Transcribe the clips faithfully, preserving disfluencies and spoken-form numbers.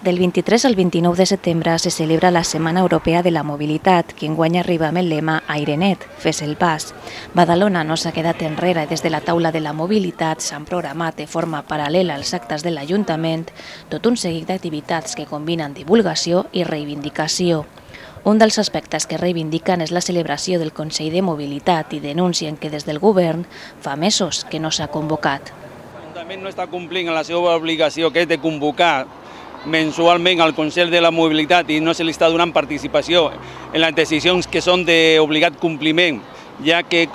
Del vint-i-tres al vint-i-nou de setembre se celebra la Setmana Europea de la Mobilitat, que enguany arriba amb el lema Airenet, fes el pas. Badalona no s'ha quedat enrere i des de la taula de la mobilitat s'han programat de forma paral·lela als actes de l'Ajuntament tot un seguit d'activitats que combinen divulgació i reivindicació. Un dels aspectes que reivindiquen és la celebració del Consell de Mobilitat i denuncien que des del govern fa mesos que no s'ha convocat. L'Ajuntament no està complint la seva obligació, que és de convocar mensualment al Consell de la Mobilitat i no se li està donant participació en les decisions que són d'obligat compliment, ja que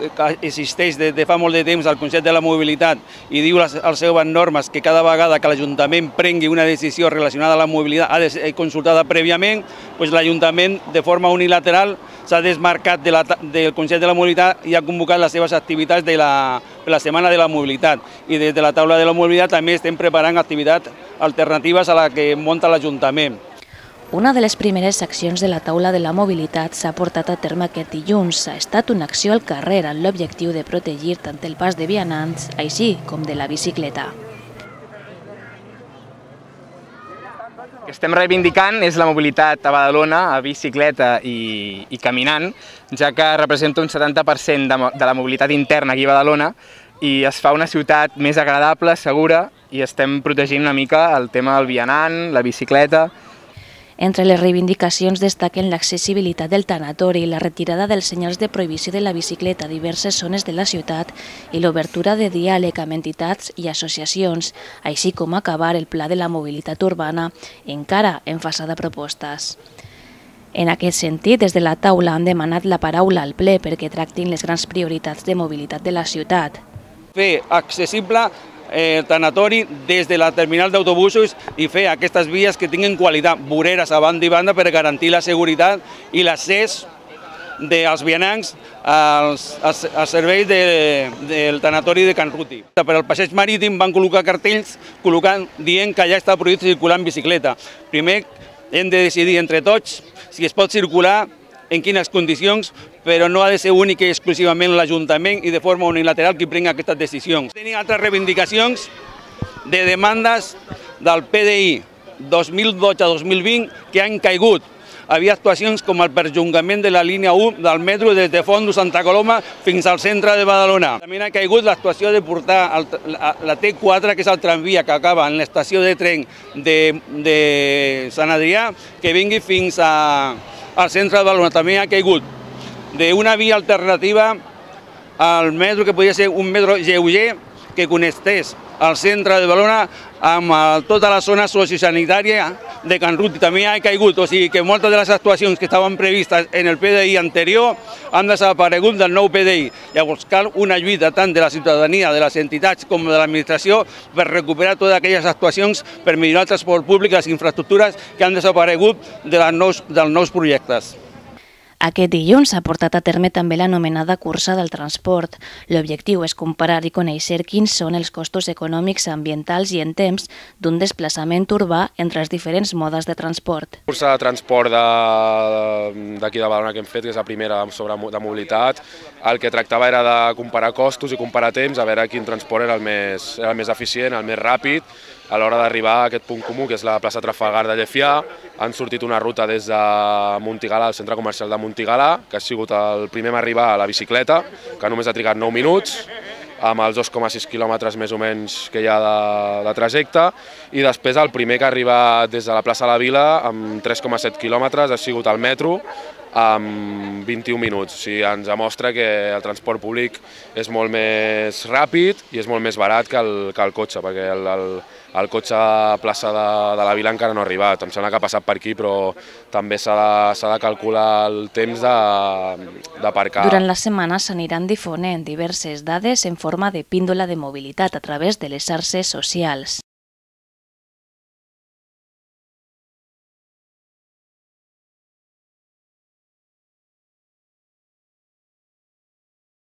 existeix des de fa molt de temps el Consell de la Mobilitat i diu a les seves normes que cada vegada que l'Ajuntament prengui una decisió relacionada amb la mobilitat ha de ser consultada prèviament, doncs l'Ajuntament de forma unilateral s'ha desmarcat de la, del Consell de la Mobilitat i ha convocat les seves activitats de la, de la Setmana de la Mobilitat. I des de la taula de la mobilitat també estem preparant activitats alternatives a la que munta l'Ajuntament. Una de les primeres accions de la taula de la mobilitat s'ha portat a terme aquest dilluns. Ha estat una acció al carrer amb l'objectiu de protegir tant el pas de vianants, així com de la bicicleta. El que estem reivindicant és la mobilitat a Badalona, a bicicleta i, i caminant, ja que representa un setanta per cent de, de la mobilitat interna aquí a Badalona i es fa una ciutat més agradable, segura, i estem protegint una mica el tema del vianant, la bicicleta. Entre les reivindicacions destaquen l'accessibilitat del tanatori, la retirada dels senyals de prohibició de la bicicleta a diverses zones de la ciutat i l'obertura de diàleg amb entitats i associacions, així com acabar el pla de la mobilitat urbana, encara en fase de propostes. En aquest sentit, des de la taula han demanat la paraula al ple perquè tractin les grans prioritats de mobilitat de la ciutat. Fer accessible el tanatori des de la terminal d'autobusos i fer aquestes vies que tinguin qualitat, voreres a banda i banda per garantir la seguretat i l'accés dels vianants als, als, als serveis de, del tanatori de Can Ruti. Per al passeig marítim van col·locar cartells col·locant, dient que ja està prohibit circular en bicicleta. Primer hem de decidir entre tots si es pot circular, en quines condicions, però no ha de ser únic i exclusivament l'Ajuntament i de forma unilateral qui prenga aquestes decisions. Tenim altres reivindicacions de demandes del P D I dos mil dotze a dos mil vint que han caigut. Havia actuacions com el perllongament de la línia u del metro des de Fondo Santa Coloma fins al centre de Badalona. També ha caigut l'actuació de portar el, la, la T quatre, que és el tramvia que acaba en l'estació de tren de, de Sant Adrià, que vingui fins a, al centre de Badalona. També ha caigut d'una via alternativa al metro, que podia ser un metro lleuger que connectés al centre de Badalona amb tota la zona sociosanitària de Can Ruti. També ha caigut, o sigui que moltes de les actuacions que estaven previstes en el P D I anterior han desaparegut del nou P D I. Llavors cal una lluita tant de la ciutadania, de les entitats com de l'administració per recuperar totes aquelles actuacions per millorar el transport públic i les infraestructures que han desaparegut de les nous, dels nous projectes. Aquest dilluns s'ha portat a terme també l'anomenada cursa del transport. L'objectiu és comparar i conèixer quins són els costos econòmics, ambientals i en temps d'un desplaçament urbà entre els diferents modes de transport. La cursa de transport d'aquí de Badalona que hem fet, que és la primera sobre de mobilitat, el que tractava era de comparar costos i comparar temps, a veure quin transport era el més, era el més eficient, el més ràpid, a l'hora d'arribar a aquest punt comú, que és la plaça Trafalgar de Llefià. Han sortit una ruta des de Montigalà, al centre comercial de Montigalà, que ha sigut el primer a arribar a la bicicleta, que només ha trigat nou minuts, amb els dos coma sis quilòmetres més o menys que hi ha de, de trajecte, i després el primer que ha arribat des de la plaça de la Vila, amb tres coma set quilòmetres, ha sigut el metro, amb vint-i-un minuts. O sigui, ens demostra que el transport públic és molt més ràpid i és molt més barat que el, que el cotxe, perquè el, el, el cotxe a plaça de, de la Vila encara no ha arribat. Em sembla que ha passat per aquí, però també s'ha de, s'ha de calcular el temps d'aparcar. Durant la setmana s'aniran difonent diverses dades en forma de píndola de mobilitat a través de les xarxes socials.